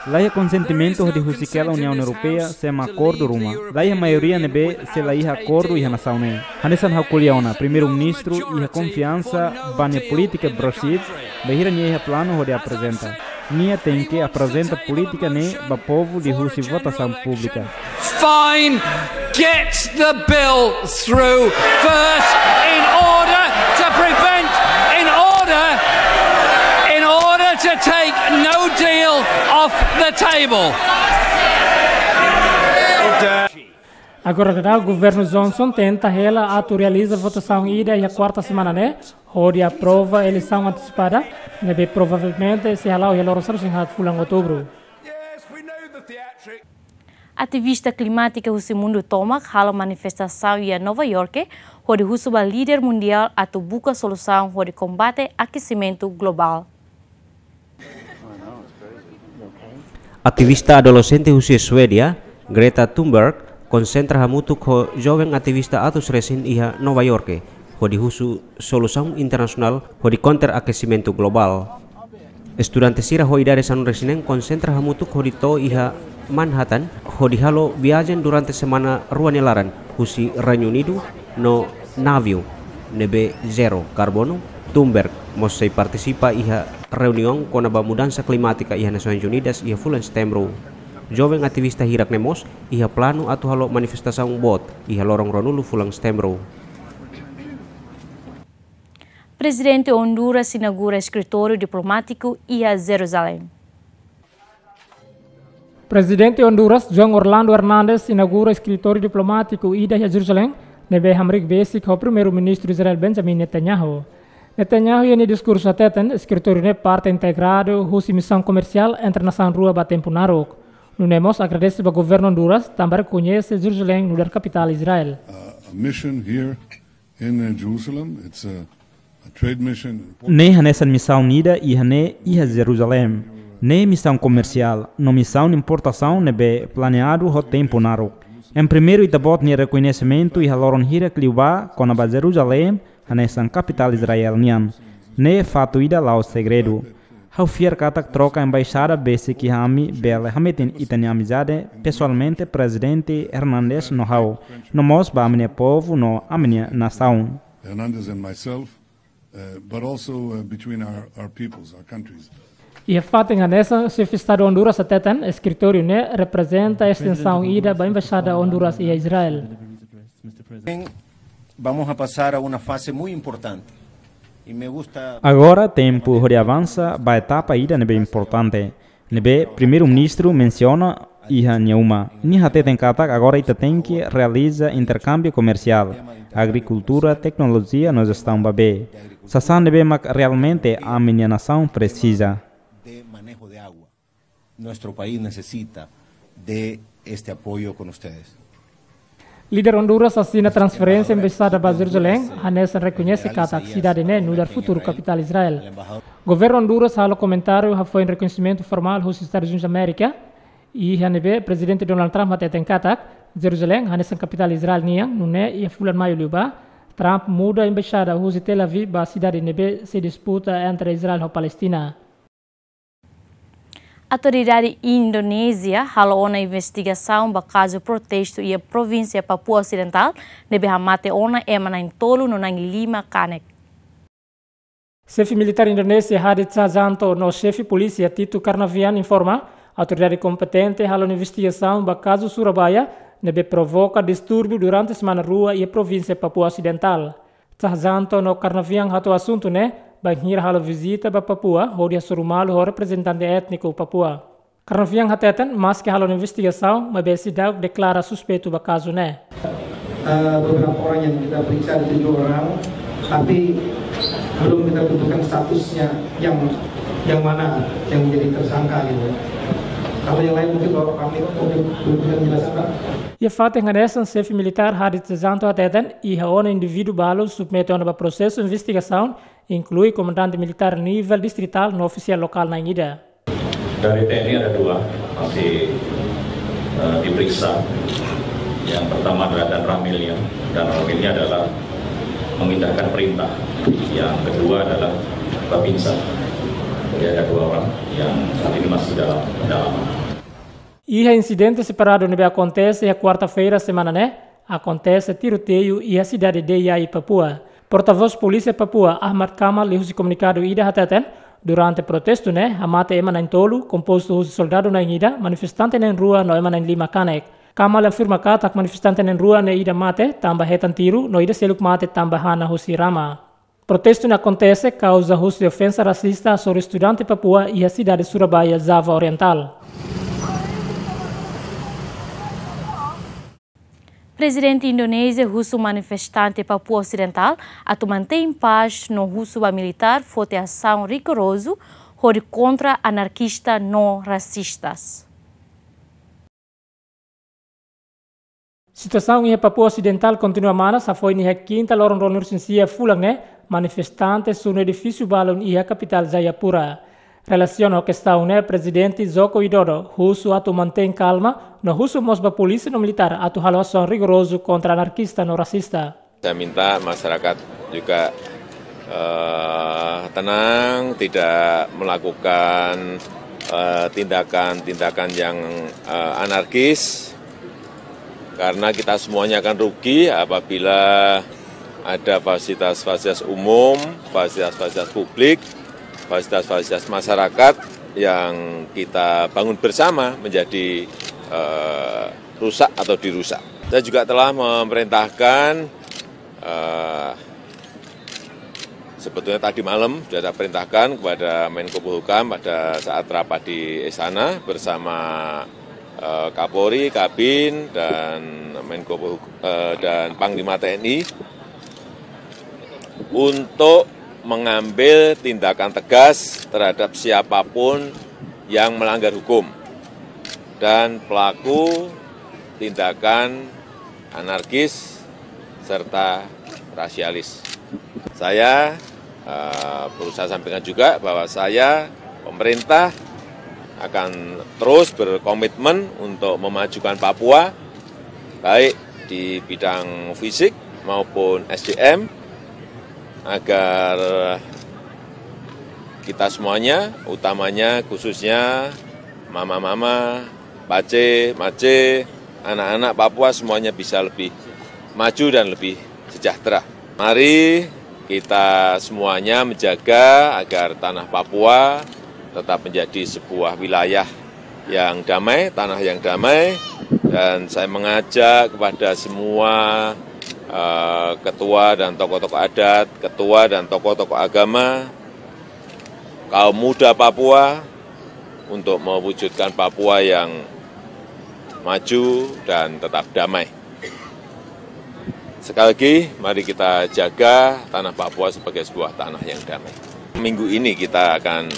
La iha konsentimentu hodi husik hela Uniaun Europeia, sé mak akordu ruma. La iha maioria ne'ebé sei la iha akordu iha nasaun ne'e. Hanesan ha'u ko'alia ona, Primeiru-Ministru iha konfiansa ba nia polítika Brexit, bainhira nia iha planu hodi aprezenta. Nia tenke aprezenta polítika ne'e ba povu liuhusi votasaun públika. Fine, get the bill through first in order to prevent, in order, in order to take no deal off the table. Agora daudaun, Governu Johnson tenta hela atu realiza votasaun ida iha kuarta semana ne'e, hodi aprova eleisaun antesipada, ne'ebé provavelmente sei hala'o iha loron sanulu-resin-haat fulan Outubru. Ativista klimátika husi mundu tomak halo manifestasaun iha Nova York, hodi husu ba líder mundiál atu buka solusaun hodi kombate akesimentu globál. Ativista adolexente husi Suédia, Greta Thunberg, konsentra hamutuk ho joven ativista atus resin iha Nova York, hodi husu solusaun internasionál hodi kontra akesimentu globál. Estudante sira ho idade sanulu-resin-neen konsentra hamutuk hodi to'o iha Manhattan, hodi halo viajen durante semana rua nia laran, husi Reinu Unidu no naviu ne'ebé zero karbonu. Thunberg mós sei partisipa iha reuniaun kona-ba mudansa klimátika iha Nasoins Unidas iha fulan Setembru. Joven ativista hirak ne'e mós iha planu atu halo manifestasaun boot iha loron ruanulu fulan Setembru. Prezidente Honduras inaugura eskritóriu diplomátiku iha Jerusalém. Prezidente Honduras, Juan Orlando Hernández, inaugura eskritóriu diplomátiku ida iha Jerusalém, ne'ebé hamriik besik ho Primeiru-Ministru Israel Benjamin Netanyahu. Netanyahu iha nia diskursu hateten, eskritóriu ne'e parte integradu husi misaun komersiál entre nasaun rua ba tempu naruk. Nune'e mós agradese ba Governu Honduras tanba rekoñese Jerusalém nu'udar kapitál Israel. A mission here in uh, Jerusalem. It's a, a trade mission. Ne'e hanesan misaun ida iha ne'e iha Jerusalém. Ne'e misaun komersiál, no misaun importasaun ne'ebé planeadu ho tempu naruk. Em primeiru ita-boot nia rekoñesimentu iha loron hirak liubá kona-ba Jerusalém, hanesan kapitál Israel nian. Ne'e faktu ida la'ós segredu. Ha'u fiar katak troka embaixada besik iha ami bele hametin ita-nia amizade pesoalmente Prezidente Hernandez no ha'u, no mós ba ami-nia povu no ami-nia nasaun. Hernandez and myself, uh, but also uh, between our, our peoples, our countries. Iha fatin hanesan, Xefe Estadu Honduras hateten, eskritóriu ne'e reprezenta estensaun ida ba Embaixada Honduras iha Israel. Vamos a pasar a una fase muy importante. Y me gusta Agora tempu hodi avansa ba etapa ida ne'ebé importante, ne'ebé Primeiru-Ministru mensiona iha nia uma. Nia hateten katak agora ita tenke realiza interkámbiu komersiál, agrikultura, teknolojia no jestaun ba bee. Sasán ne'ebé mak realmente ami-nia nasaun presiza. De manejo de agua. Nuestro país necesita de este apoyo con ustedes. Líder Honduras asina transferénsia embaixada ba Jerusalém, hanesan rekoñese katak sidade ne'e nu'udar futuru kapitál Israel. Governu Honduras halo komentáriu hafoin rekoñesimentu formál husi Estadus Unidus Amérika, iha ne'ebé Prezidente Donald Trump hateten katak Jerusalém hanesan kapitál Israel nian. Nune'e iha fulan Maiu liubá, Trump muda embaixada husi Tel Aviv ba sidade ne'ebé sei disputa entre Israel ho Palestina. Autoridade Indonézia halo ona investigasaun ba kazu protestu iha provínsia Papua Osidentál, ne'ebé hamate ona ema na'in-tolu no na'in-lima kanek. Xefe militár Indonézia Hadi Cahyanto no xefe polísia Tito Karnavian informa, autoridade kompetente halo investigasaun ba kazu Surabaya, ne'ebé provoka distúrbiu durante semana rua iha provínsia Papua Osidentál. Cahyanto no Karnavian hato'o asuntu ne'e bainhira halo vizita ba Papua, hodi hasoru malu ho reprezentante étniku Papua. Karnavian hateten, maski halo investigasaun, maibé seidauk deklara suspeitu ba kazu ne'e. Eh, beberapa orang yang kita periksa, ada tujuh orang, tapi belum kita tentukan statusnya yang yang mana yang menjadi tersangka gitu. Kalau yang lain mungkin Bapak Panglima punya penjelasan, Pak. Iha fatin hanesan, xefe militár Hadi Cahyanto hateten, iha ona indivíduu balu submete ona ba prosesu investigasaun, inklui komandante militár nivel distritál no ofisiál lokál na'in ida. Dari T N I ada dua masih eh, diperiksa. Yang pertama adalah Danramil, ya. Danramil ini adalah memindahkan perintah. Yang kedua adalah Babinsa. Jadi ada dua orang yang saat ini masih dalam pendalaman. Iha insidente separadu ne'ebé akontese iha kuarta-feira semana ne'e, akontese tiroteiu iha sidade Dei Yayi, Papua. Portavós Polísia Papua, Ahmad Kamal, liuhusi komunikadu ida hateten, durante protestu ne'e, hamate ema na'in-tolu, kompostu husi soldadu na'in ida, manifestante na'in-rua no ema na'in-lima kanek. Kamal afirma katak manifestante na'in-rua ne'e ida mate tanba hetan tiru, no ida seluk mate tanba hana husi rama. Protestu ne'e akontese kauza husi ofensa rasista hasoru estudante Papua iha sidade Surabaya, Java Orientál. Prezidente Indonézia husu manifestante Papua Osidentál atu mantein pás no husu ba militár foti asaun rigorozu hodi kontra anarkista no rasistas. Situasaun iha Papua Osidentál kontinua manas, hafoin iha kinta loron ruanulu-resin-sia fulan ne'e, manifestante sunu edifísiu balun iha kapitál Jayapura. Relasiona ho kestaun ne'e, Prezidente Joko Widodo husu atu mantein kalma, no husu mós ba polísia no militár atu halo asaun rigorozu kontra anarkista no rasista. Saya minta masyarakat juga eh, tenang, tidak melakukan eh, tindakan-tindakan yang eh, anarkis, karena kita semuanya akan rugi apabila ada fasilitas-fasilitas umum, fasilitas-fasilitas publik, fasilitas-fasilitas masyarakat yang kita bangun bersama menjadi eh, rusak atau dirusak. Saya juga telah memerintahkan eh, sebetulnya tadi malam sudah saya perintahkan kepada Menko Polhukam pada saat rapat di Istana bersama eh, Kapolri, Kabin, dan Menko Polhuk- eh, dan Panglima T N I untuk mengambil tindakan tegas terhadap siapapun yang melanggar hukum dan pelaku tindakan anarkis serta rasialis. Saya eh, perlu saya sampaikan juga bahwa saya, pemerintah, akan terus berkomitmen untuk memajukan Papua, baik di bidang fisik maupun S D M, agar kita semuanya, utamanya khususnya mama-mama, pace, mace, anak-anak Papua semuanya bisa lebih maju dan lebih sejahtera. Mari kita semuanya menjaga agar tanah Papua tetap menjadi sebuah wilayah yang damai, tanah yang damai, dan saya mengajak kepada semua, eh, ketua dan tokoh-tokoh adat, ketua dan tokoh-tokoh agama, kaum muda Papua untuk mewujudkan Papua yang maju dan tetap damai. Sekali lagi, mari kita jaga tanah Papua sebagai sebuah tanah yang damai. Minggu ini kita akan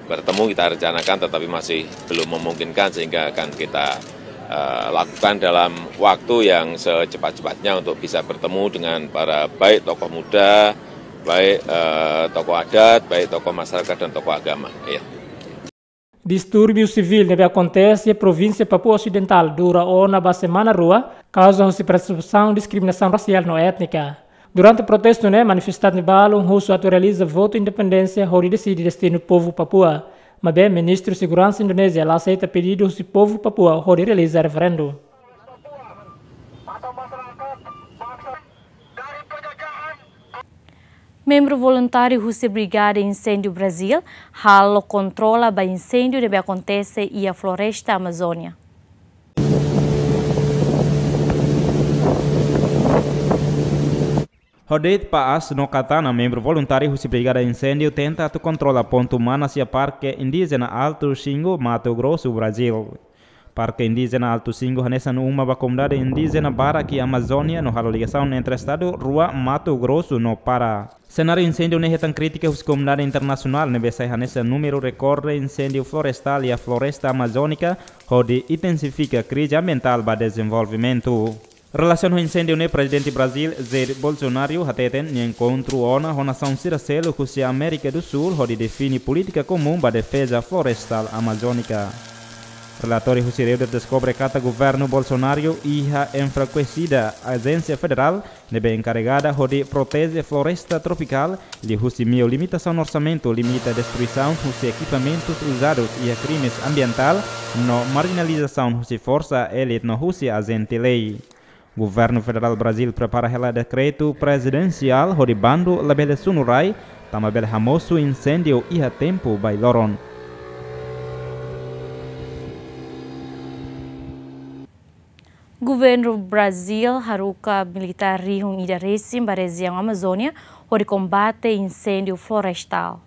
bertemu, kita rencanakan, tetapi masih belum memungkinkan, sehingga akan kita, eh, lakukan dalam waktu yang secepat-cepatnya untuk bisa bertemu dengan para, baik tokoh muda, baik, eh, tokoh adat, baik tokoh masyarakat dan tokoh agama. Ya. Distúrbiu sivíl ne'ebé akontese iha provínsia Papua Osidentál dura ona ba semana rua, kauza husi persebesaun diskriminasaun rasiál no étnika. Durante protestu ne'e, manifestante balun husu atu realiza votu independénsia hodi deside destinu povu Papua. Maibé, Ministru Seguransa Indonézia la aseita pedidu husi povu Papua hodi realiza referendu. Membru voluntáriu husi Brigada Inséndiu Brazíl halo kontrola ba inséndiu ne'ebé akontese iha floresta Amazónia. Ho de'it pa'as no katana, membru voluntáriu husi Brigada Inséndiu tenta atu kontrola pontu manas iha Parke Indíjena Alto Xingu, Mato Grosso, Brazíl. Parke Indíjena Alto Xingu hanesan uma ba komunidade indíjena barak iha Amazónia no halo ligasaun entre estadu rua, Mato Grosso no Pará. Senáriu inséndiu ne'e hetan krítika husi komunidade internasionál ne'ebé sai hanesan númeru rekorde inséndiu florestál iha floresta amazónika, hodi intensifika krize ambientál ba dezenvolvimentu. Relasiona ho inséndiu ne'e, Prezidente Brazíl, Jair Bolsonaro, hateten nia enkontru ona ho nasaun sira seluk husi Amérika do Sul hodi define polítika komún ba defeza florestál amazónika. Relatóriu husi Reuters deskobre katak governu Bolsonaro iha enfrakuesida ajénsia federál ne'ebé enkarregada hodi proteje floresta tropikál, liuhusi meiu limitasaun orsamentu, limita destruisaun husi ekipamentus uzadus iha krimes ambientál, no marjinalizasaun husi forsa elite no husi ajente lei. Governu Federál Brazíl prepara hela dekretu prezidensiál hodi bandu labele sunu rai, tanba bele hamosu inséndiu iha tempu bailoron. Governu Brazíl haruka militár rihun ida resin ba rejiaun Amazónia hodi kombate inséndiu florestál.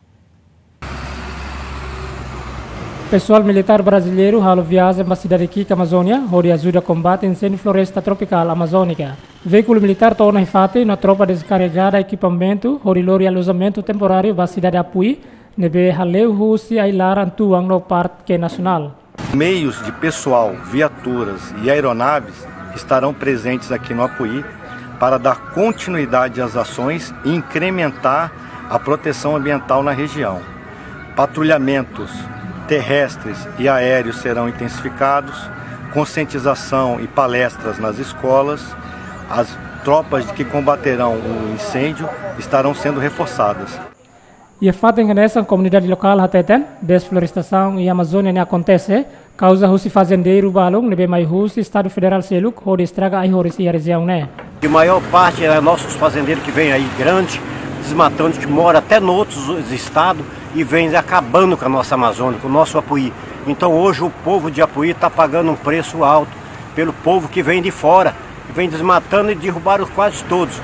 Pesoál militár brazileiru halo viajen ba sidade Kika, Amazónia, hodi ajuda kombate inséndiu floresta tropikál Amazónika. Veíkulu militár to'o ona iha fatin no tropa deskarrega ekipamentu hodi lori alojamentu temporáriu ba sidade Apuí, ne'ebé haleu husi ai-laran tuan no Parke Nasionál. Meios de pessoal, viaturas e aeronaves estarão presentes aqui no Apuí para dar continuidade às ações e incrementar a proteção ambiental na região. Patrulhamentos terrestres e aéreos serão intensificados, conscientização e palestras nas escolas, as tropas que combaterão o incêndio estarão sendo reforçadas. Iha fatin hanesan, komunidade lokál hateten, desflorestasaun iha Amazónia ne'e akontese kauza husi fazendeiru balun ne'ebé mai husi estadu federál seluk hodi estraga ai-horis iha rejiaun ne'e. De maior parte é nossos fazendeiros que vêm aí grande, desmatando, que mora até em outros estados e vem acabando com a nossa Amazônia, com o nosso Apuí. Então hoje o povo de Apuí está pagando um preço alto pelo povo que vem de fora, que vem desmatando e derrubaram quase todos.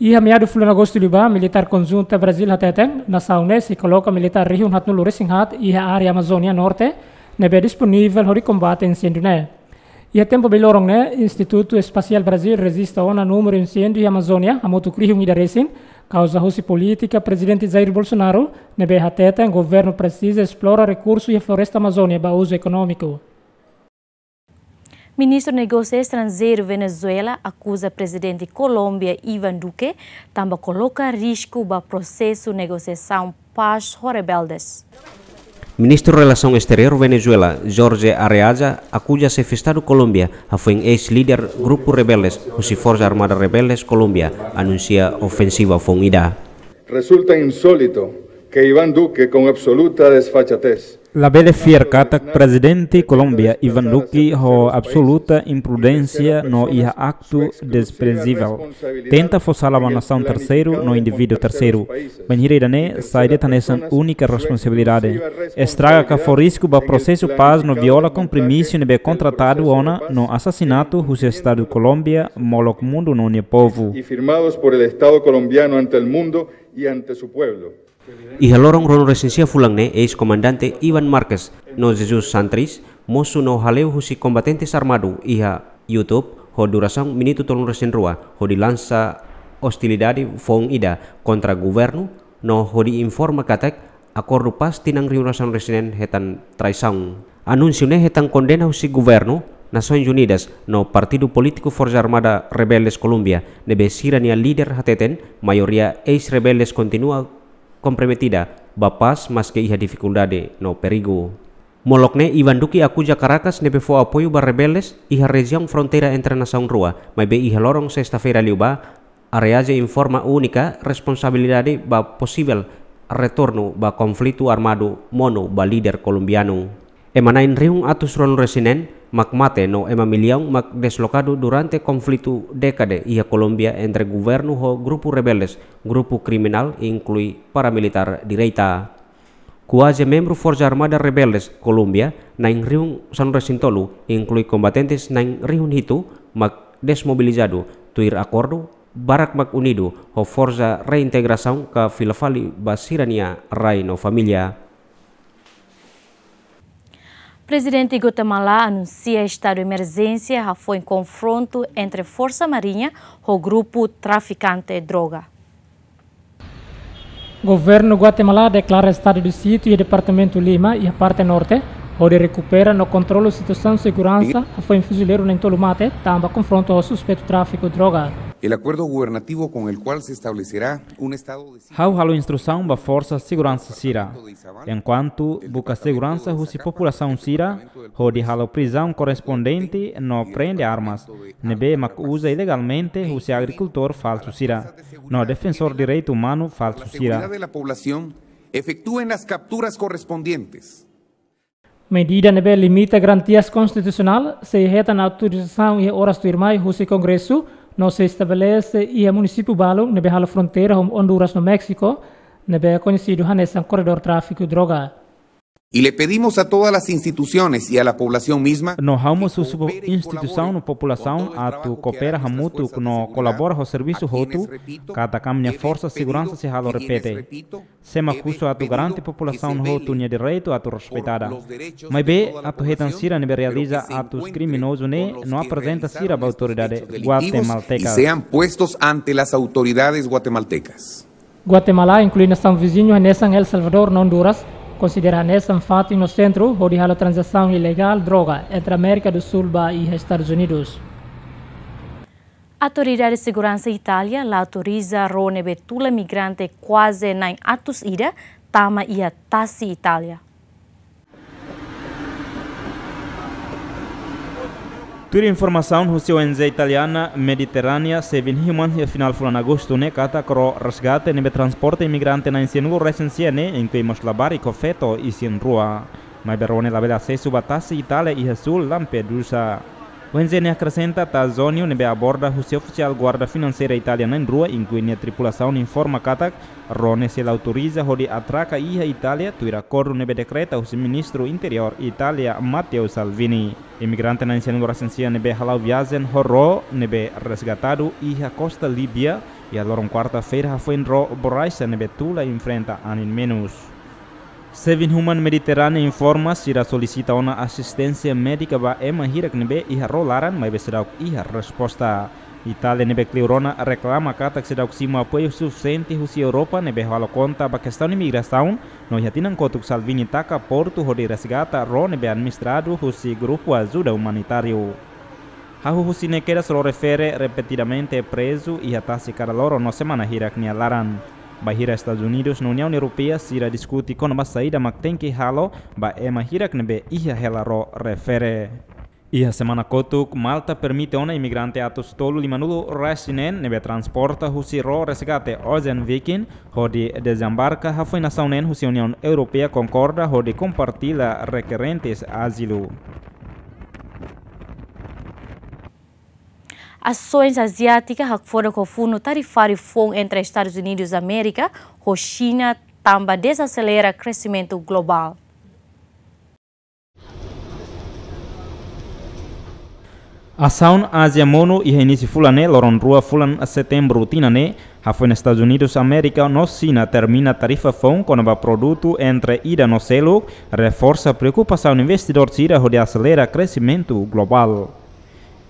Iha meadu fulan Agostu liubá, militár konjunta Brazíl hateten, nasaun ne'e sei koloka militár rihun haatnulu resin haat iha área Amazónia Norte, ne'ebé disponivel hodi kombate inséndiu ne'e. Iha tempu bailoron ne'e, Institutu Espasiál Brazíl rejista ona númeru inséndiu iha Amazónia hamutuk rihun ida resin, kauza husi polítika Prezidente Jair Bolsonaro, ne'ebé hateten governu presiza esplora rekursu iha floresta Amazónia ba uzu ekonómiku. Ministru Negósiu Estranjeiru Venezuela akuza Prezidente Kolómbia Iván Duque tanba koloka risku ba prosesu negosiasaun pás ho rebeldes. Ministru Relasaun Esteriór Venezuela, Jorge Arreaza, akuza Xefe Estadu Kolómbia hafoin eis-líder grupu rebeldes husi Forsa Armada Rebeldes Kolómbia anunsia ofensiva foun ida. Resulta insólito que Iván Duque, con absoluta desfachatez, Labele fiar katak Prezidente Kolómbia Iván Duque ho absoluta imprudénsia no iha aktu desprezivel tenta fó sala ba nasaun terseiru no indivíduu terseiru. Bainhira ida-ne'e sai de'it hanesan únika responsabilidade. Estraga ka fó risku ba prosesu pás no viola kompromisu ne'ebé kontratadu ona no asasinatu husi Estadu Kolómbia, molok mundu no nia povu. Y firmados por el Estado colombiano ante el mundo y ante su pueblo. Iha loron ruanulu-resin-sia fulan ne'e, eis-komandante Iván Márquez no Jesus Santrich mosu no hale'u husi kombatentes armadu iha YouTube ho durasaun minutu tolunulu-resin-rua, hodi lansa ostilidade foun ida kontra governu no hodi informa katak akordu pás tinan rihun-resin-rua ne'e hetan traisaun. Anúnsiu ne'e hetan kondena husi governu, Nasoins Unidas no partidu polítiku Forsa Armada Rebeldes Kolómbia, ne'ebé sira-nia líder hateten maioria eis-rebeldes kontinua komprometida ba pás maske iha difikuldade no perigu. Molok ne'e, Iván Duque akuza Caracas ne'ebé fó apoiu ba rebeldes iha rejiaun fronteira entre nasaun rua, maibé iha loron sesta-feira liubá, Arreaza informa únika responsabilidade ba posivel retornu ba konflitu armadu monu ba líder kolombianu. Ema na'in rihun atus ruanulu-resin-neen mak mate no ema millaun mak deslokadu durante konflitu dékada iha Kolómbia entre governu ho grupu rebeldes, grupu kriminál, inklui paramilitár direita. Kuaze membru Forsa Armada Rebeldes Kolómbia na'in rihun sanulu-resin-tolu, inklui kombatentes na'in rihun hitu, mak desmobilizadu tuir akordu, barak mak unidu ho forsa reintegrasaun ka fila fali ba sira-nia rai no família. Prezidente Guatemala anunsia estadu emerjénsia hafoin konfrontu entre Forsa Mariña ho grupu trafikante droga. Governu Guatemala deklara estadu de sítiu iha departamentu Lima, iha parte norte, hodi rekupera no kontrola situasaun seguransa, hafoin fuzileiru na'in-tolu mate, tanba konfrontu ho suspeitu tráfiku droga. El acuerdo gubernativo con el cual se establecerá un estado de Ha'u halo instrusaun ba forsa seguransa sira, enkuantu buka seguransa husi populasaun sira, hodi halo prizaun korrespondente no prende armas ne'ebé mak uza ilegalmente husi agrikultór falsu sira, no defensór direitu umanu falsu sira. Seguridad de la población efectúen las capturas correspondientes. Medida ne'ebé limita garantias konstitusionál, sei hetan autorizasaun iha oras tuirmai husi Kongresu, no sei estabelese iha munisípiu balun ne'ebé halo fronteira ho Honduras no Méxiku, ne'ebé koñesidu hanesan koredór tráfiku droga. Y le pedimos a todas las instituciones y a la población misma. No ha'u mós husu ba instituisaun no populasaun atu koopera hamutuk no kolabora ho servisu hotu, katak ami-nia forsa seguransa sei halo repete. Sé mak husu atu garante populasaun hotu nia direitu atu respeitada. Maibé, atu hetan sira ne'ebé realiza atus kriminozu ne'e no aprezenta sira ba autoridade guatemalteka. Y sean puestos ante las autoridades guatemaltecas. Guatemala, inklui nasaun viziñu hanesan El Salvador no Honduras, konsidera hanesan fatin no sentru hodi halo tranzasaun ilegál droga entre Amérika do Sul ba iha Estadus Unidus. Autoridade seguransa Itália la autoriza ró ne'ebé tula migrante kuaze na'in atus ida tama iha tasi Itália. Tuir informasaun husi O N G italiana Mediterránea Saving Humans iha final fulan Agostu ne'e katak ró resgate ne'ebé transporta imigrante na'in sianulu-resin-sia ne'e inklui mós labarik ho feto isin-rua. Maibé ró ne'e labele asesu ba tasi Itália iha súl Lampedusa. O N G ne'e akresenta Tazonio ne'ebé aborda husi ofisiál guarda finanseira Itália na'in-rua, inklui nia tripulasaun, informa katak ró ne'e sei la autoriza hodi atraka iha Itália tuir akordu ne'ebé dekreta husi Ministru Interiór Itália Matteo Salvini. Imigrante na'in sianulu-resin-sia ne'ebé hala'o viajen ho ró ne'ebé resgatadu iha kosta Líbia iha loron kuarta-feira hafoin ró borraxa ne'ebé tula enfrenta anin menus. Saving Humans Mediterránea informa sira solisita ona asisténsia médika ba ema hirak ne'ebé iha ró laran maibé seidauk iha resposta. Itália ne'ebé kleur ona reklama katak seidauk simu apoiu sufisiente husi Europa ne'ebé halo konta ba kestaun imigrasaun, no iha tinan kotuk Salvini taka portu hodi resgata ró ne'ebé administradu husi grupu ajuda umanitáriu. Hahú husi ne'e kedas ró refere repetidamente prezu iha tasi kada loron no semana hirak nia laran. Bainhira Estadus Unidus no Uniaun Europeia sira diskute kona-ba saida mak tenke halo ba ema hirak ne'ebé iha hela ró refere. Iha semana kotuk, Malta permite ona imigrante atus tolu limanulu-resin-neen ne'ebé transporta husi ró resgate Ocean Viking hodi dezembarka hafoin nasaun neen husi Uniaun Europeia konkorda hodi kompartilla rekerentes azilu. Asoens aziátika hakfodak ho funu tarifáriu foun entre Estadus Unidus Amérika ho Xina tanba dezaselera kresimentu globál. Asaun Ázia monu iha inísiu fulan ne'e, loron rua fulan Setembru tinan ne'e, hafoin Estadus Unidus Amérika no Xina termina tarifa foun kona-ba produtu entre ida no seluk, reforsa preokupasaun investidór sira hodi aselera kresimentu globál.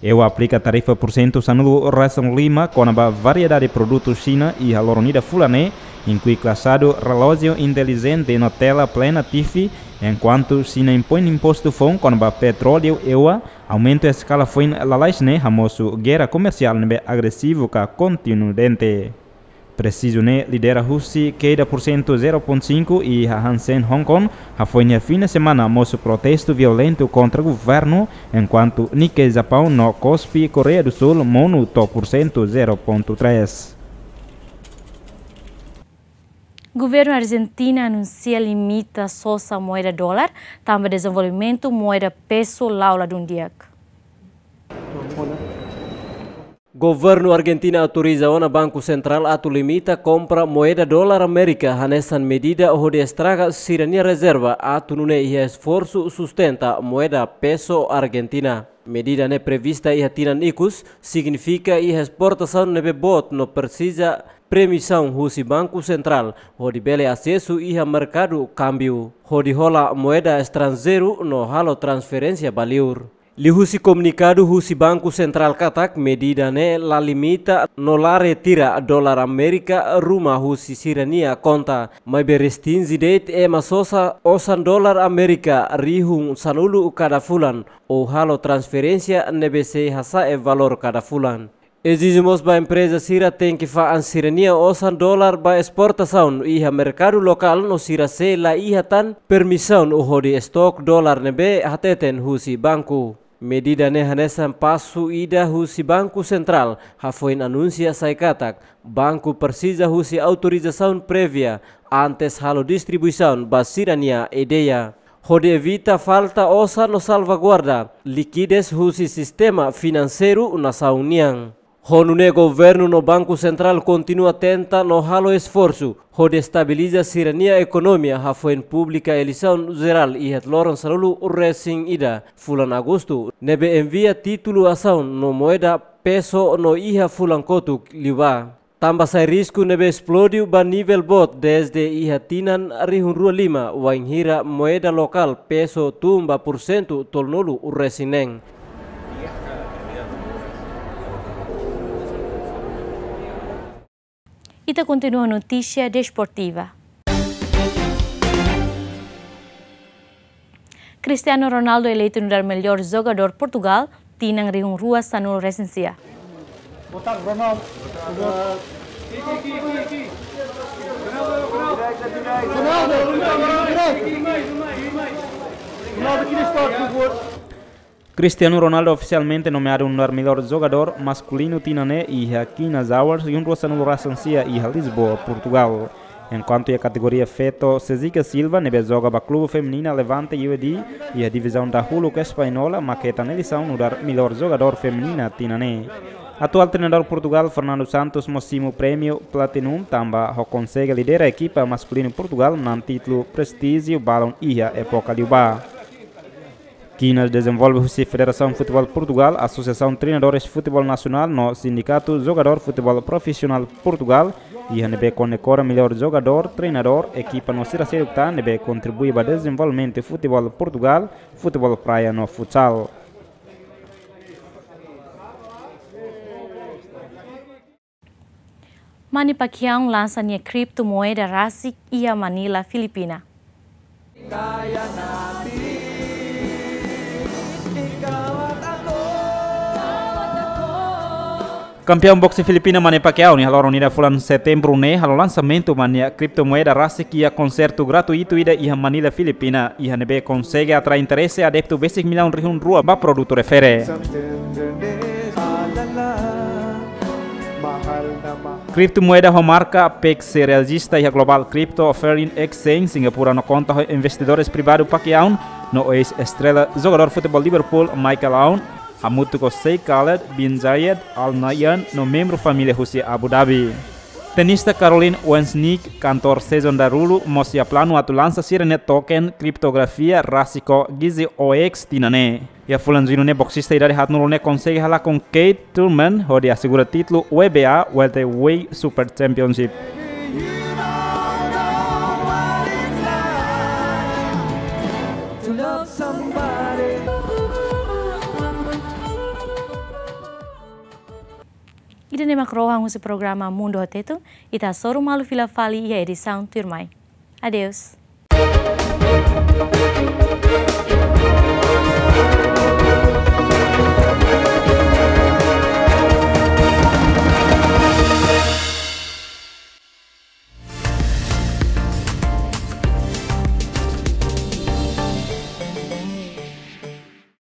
Eua aplika tarifa pursentu sanulu-resin-lima kona-ba variedade produtu Xina iha loron ida fulan ne'e, inklui klasadu relójiu intelijente no tela plena T V, enkuantu Xina impoin impostu foun kona-ba petróleu eua, aumentu eskala foin lalais ne'e hamosu gera komersiál ne'ebé agresivu ka kontinudente. Presu ne'e lidera husi keda pursentu zero pontu sinku iha Hang Seng Hong Kong, hafoin iha fim de semana mosu protestu violentu kontra governu, enkuantu Nikkei Japaun no Kospi Koreia do Sul monu to'o pursentu zero pontu três. Governu Arjentina anunsia limita sosa moeda dolar, tanba dezenvolvimentu moeda peso la'o ladún di'ak. Governu Arjentina autoriza ona Banku Sentrál atu limita kompra moeda dolar Amérika, hanesan medida hodi estraga sira-nia rezerva atu nune'e iha esforsu sustenta moeda peso Arjentina. Medida ne'e prevista iha tinan ikus, signifika iha esportasaun ne'ebé boot no presiza permisaun husi Banku Sentrál hodi bele asesu iha merkadu kámbiu, hodi hola moeda estranjeiru no halo transferénsia ba liur. Liuhusi komunikadu husi Banku Sentrál katak, medida ne'e la limita no la retira dolar Amérika ruma husi sira-nia konta, maibé restrinje de'it ema sosa osan dolar Amérika rihun sanulu kada fulan, ou halo transferénsia ne'ebé sei hasa'e valór kada fulan. Ezije mós ba empreza sira tenke fa'an sira-nia osan dolar ba esportasaun iha merkadu lokál no sira sei la iha tan permisaun hodi estok dolar ne'ebé hateten husi banku. Medida ne'e hanesan pasu ida husi Banku Sentrál hafoin anunsia sai katak, banku presiza husi autorizasaun prévia antes halo distribuisaun ba sira-nia ideia. Hodi evita falta osan no salvaguarda likidez husi sistema finanseiru nasaun nian. Ho nune'e governu no Banku Sentrál kontinua tenta no halo esforsu hodi estabiliza sira-nia ekonomia hafoin publika eleisaun jerál iha loron sanulu-resin-ida fulan Agostu, ne'ebé envia títulu asaun no moeda peso no iha fulan kotuk liubá. Tanba sai risku ne'ebé esplode ba nivel boot dezde iha tinan rihun rua lima, wainhira moeda lokál peso tun ba pursentu tolunulu-resin-neen. Ita kontinua notísia desportiva. Cristiano Ronaldo eleitu nu'udar melhor jogadór Portugál, tinan rihun rua sanulu-resin-sia. Boa tarde, Ronaldo. Ronaldo, Ronaldo, Ronaldo, Ronaldo. Ronaldo, aqui neste lado, por favor. Cristiano Ronaldo ofisialmente nomeadu nu'udar melhor jogadór maskulinu tinan ne'e iha Quinas Awards rihun rua sanulu-resin-sia iha Lisboa, Portugál. Enkuantu iha kategoria feto, Cesica Silva ne'ebé joga ba klube feminina Levante U E D iha divizaun dahuluk Española mak hetan eleisaun nu'udar melhor jogadór feminina tinan ne'e. Atuál treinadór Portugál, Fernando Santos, mós simu prémiu Platinum tanba ho konsege lidera ekipa maskulinu Portugál manán títulu prestíjiu balun iha époka liubá. Quinas dezenvolve husi Federasaun Futeból Portugál, Asosiasaun Treinadores Futeból Nasionál no Sindikatu Jogadór Futeból Profisionál Portugál, iha ne'ebé kondekora melhor jogadór, treinadór, ekipa no sira seluk tan ne'ebé kontribui ba dezenvolvimentu futeból Portugál, futeból praia no futsal. Manny Pacquiao lansa nia kriptomoeda rasik iha Manila, Filipina. Kampiaun boxe Filipina Manny Pacquiao nia halo iha fulan Setembru ne'e halo lansamentu ba nia kriptomoeda rasik iha konsertu gratuitu ida iha Manila, Filipina, iha ne'ebé konsege atrai interese adeptu besik millaun rihun rua ba produtu refere. Kriptomoeda ho marka Apex sei rejista iha Global Crypto Offering Exchange Singapura no konta ho investidores privadu Pacquiao no eis-estrela jogadór futeból Liverpool Michael Owen, hamutuk ho Sheikh Khaled bin Zayed Al Nahyan no membru família husi Abu Dhabi. Tenista Caroline Wozniacki, kantor sezon daruak, mós iha planu atu lansa sira-nia token kriptografia rasik ho Gizzy O X tinan ne'e. Iha fulan Juñu ne'e boksista idade haatnulu ne'e konsege halakon Keith Thurman hodi asegura títulu W B A Welterweight Super Championship. Ida-ne'e mak rohan husi programa Mundu ho Tetun, ita hasoru malu fila fali iha edisaun tuirmai. Adeus.